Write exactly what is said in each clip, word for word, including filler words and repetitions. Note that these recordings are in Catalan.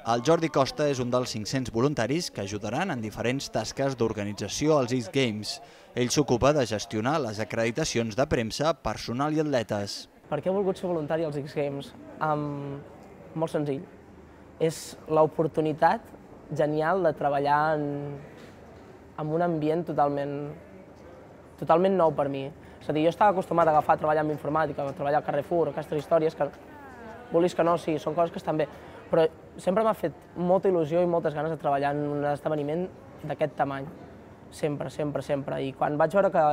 El Jordi Costa és un dels cinc-cents voluntaris que ajudaran en diferents tasques d'organització als X Games. Ell s'ocupa de gestionar les acreditacions de premsa, personal i atletes. Per què he volgut ser voluntari als X Games? Um, molt senzill. És l'oportunitat genial de treballar en, en un ambient totalment, totalment nou per mi. És a dir, jo estava acostumat a agafar a treballar amb informàtica, a treballar a Carrefour, aquestes històries que, vulguis que no, sí, són coses que estan bé, però sempre m'ha fet molta il·lusió i moltes ganes de treballar en un esdeveniment d'aquest tamany. Sempre, sempre, sempre. I quan vaig veure que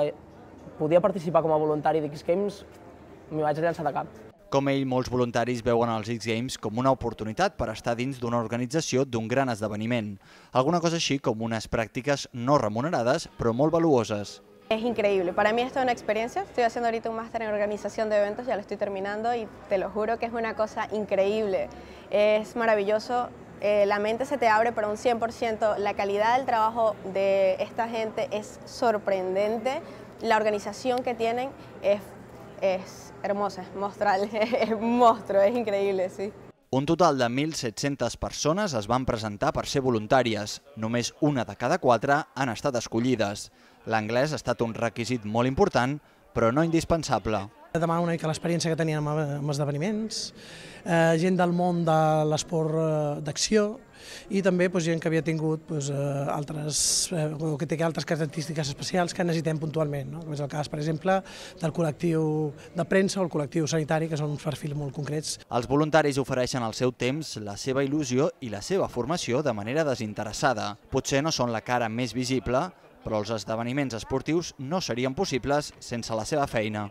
podia participar com a voluntari d'X Games, m'hi vaig llançar de cap. Com ell, molts voluntaris veuen els X Games com una oportunitat per estar dins d'una organització d'un gran esdeveniment. Alguna cosa així com unes pràctiques no remunerades, però molt valuoses. Es increíble, para mí esto es una experiencia, estoy haciendo ahorita un máster en organización de eventos, ya lo estoy terminando y te lo juro que es una cosa increíble, es maravilloso, eh, la mente se te abre para un cien por ciento, la calidad del trabajo de esta gente es sorprendente, la organización que tienen es, es hermosa, es monstrual, es un monstruo, es increíble, sí. Un total de mil set-centes persones es van presentar per ser voluntàries. Només una de cada quatre han estat escollides. L'anglès ha estat un requisit molt important, però no indispensable. Demana una mica l'experiència que tenien amb esdeveniments, eh, gent del món de l'esport d'acció i també doncs, gent que havia tingut doncs, altres, eh, o que té altres característiques especials que necessitem puntualment, no? Com és el cas, per exemple, del col·lectiu de premsa o el col·lectiu sanitari, que són uns perfils molt concrets. Els voluntaris ofereixen el seu temps, la seva il·lusió i la seva formació de manera desinteressada. Potser no són la cara més visible, però els esdeveniments esportius no serien possibles sense la seva feina.